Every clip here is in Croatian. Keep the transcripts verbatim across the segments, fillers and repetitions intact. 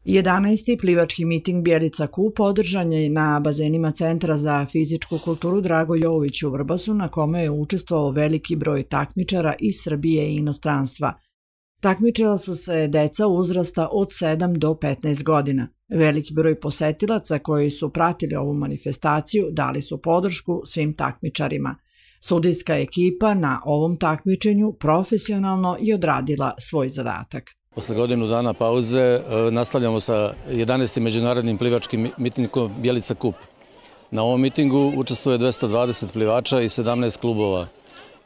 jedanaesti. plivački miting Bjelica Kup održan je na bazenima Centra za fizičku kulturu Drago Jovović u Vrbasu, na kome je učestvovao veliki broj takmičara iz Srbije i inostranstva. Takmičila su se deca uzrasta od sedam do petnaest godina. Veliki broj posetilaca koji su pratili ovu manifestaciju dali su podršku svim takmičarima. Sudijska ekipa na ovom takmičenju profesionalno je odradila svoj zadatak. Posle godinu dana pauze nastavljamo sa jedanaestim međunarodnim plivačkim mitingom Bjelica Kup. Na ovom mitingu učestvuje dvesta dvadeset plivača i sedamnaest klubova.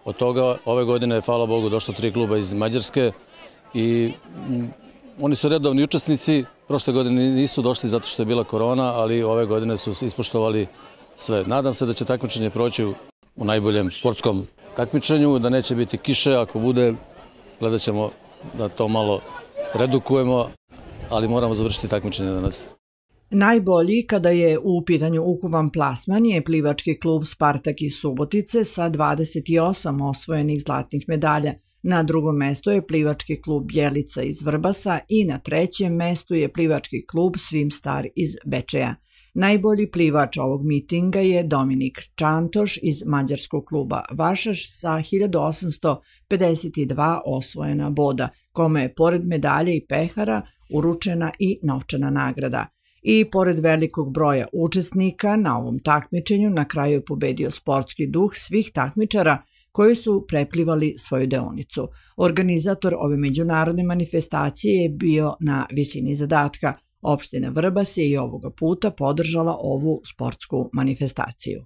Od toga ove godine je, hvala Bogu, došlo tri kluba iz Mađarske i oni su redovni učesnici. Prošle godine nisu došli zato što je bila korona, ali ove godine su ispoštovali sve. Nadam se da će takmičenje proći u najboljem sportskom takmičenju, da neće biti kiše, ako bude, gledat ćemo da to malo redukujemo, ali moramo završiti takmičenje danas. Najbolji kada je u pitanju ukupan plasman je plivački klub Spartak iz Subotice sa dvadeset osam osvojenih zlatnih medalja. Na drugom mestu je plivački klub Bjelica iz Vrbasa i na trećem mestu je plivački klub Svimstar iz Bečeja. Najbolji plivač ovog mitinga je Dominik Čantoš iz mađarskog kluba Vašaš sa hiljadu osamsto pedeset dva osvojena boda, kome je pored medalje i pehara uručena i novčana nagrada. I pored velikog broja učesnika na ovom takmičenju na kraju je pobedio sportski duh svih takmičara koji su preplivali svoju deonicu. Organizator ove međunarodne manifestacije je bio na visini zadatka. Opština Vrbas je i ovoga puta podržala ovu sportsku manifestaciju.